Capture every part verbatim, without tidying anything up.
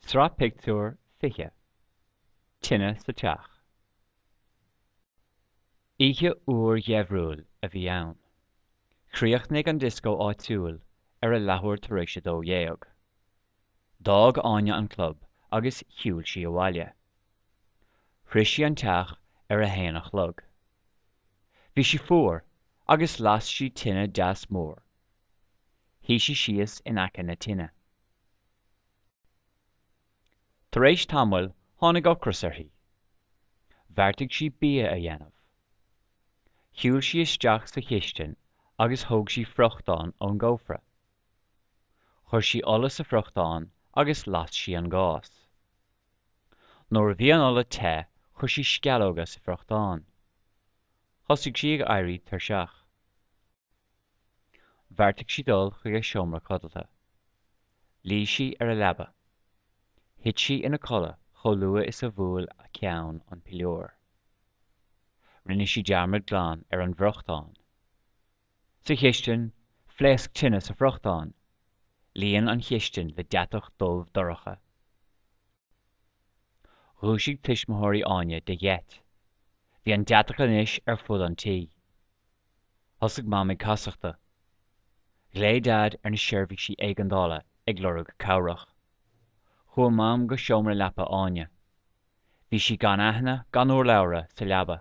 Sraith Pictiúr fiche, Tine sa Teach. Oíche fhuar gheimhriúil a bhí ann. Chríochnaigh an dioscó áitiúil ar a leathuair tar éis a dó dhéag. D'fhág Áine an club agus shiúil sí abhaile. Shroich sí an teach ar a haon a chlog. Bhí sí fuar agus las sí tine deas mór. Shuigh sí síos in aice na tine. Tar éis tamaill tháinig ocras uirthi. Bheartaigh sí bia a dhéanamh. Shiúil sí isteach sa chistin agus thóg sí friochtán ón gcófra. Chuir sí ola sa bhfriochtán agus las sí an gás. Nuair a bhí an ola te, chuir sí sceallóga sa bhfriochtán. Thosaigh sí ag éirí tuirseach. Bheartaigh sí dul chuig a seomra codlata. Luigh sí ar a leaba. Thit sí ina codladh chomh luath is a bhuail a ceann an piliúr. Rinne sí dearmad glan ar an bhfriochtán. Sa chistin, phléasc tine sa bhfriochtán. Líon an chistin le deatach dubh dorcha. Dhúisigh tuismitheoirí Áine de gheit. Bhí an deatach anois ar fud an tí. Thosaigh Mam ag casachtadh. Ghlaoigh Daid ar na seirbhísí éigeandála ag lorg cabhrach. Chuaigh Mam go seomra leapa Áine. Bhí sí gan aithne gan urlabhra sa leaba.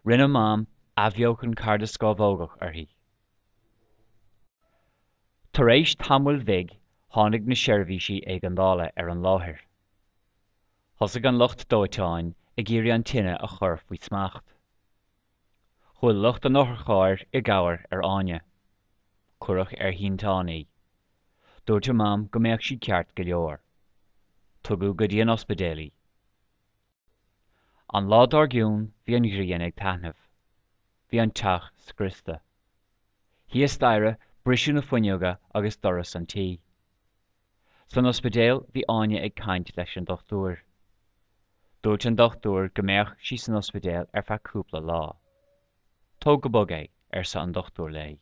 Rinne Mam athbheochan cardascamhógach uirthi. Tar éis tamaill bhig tháinig na seirbhísí éigeandála ar an láthair. Thosaigh an lucht dóiteáin ag iarraidh an tine a chur faoi smacht. Chuaigh lucht an otharchairr i gcabhair ar Áine. Cuireadh ar shínteán í. Dúirt a Mam go mbeadh sí ceart go leor. Tugadh go dtí an ospidéal í. An lá dár gcionn bhí an ghrian ag taitneamh. Bhí an teach scriosta. Thíos staighre briseadh na fuinneoga agus doras an tí. San ospidéal bhí Áine ag caint leis an dochtúir. Dúirt an dochtúir go mbeadh sí san ospidéal ar feadh cúpla lá. Tóg go bog é, arsa an dochtúir léi.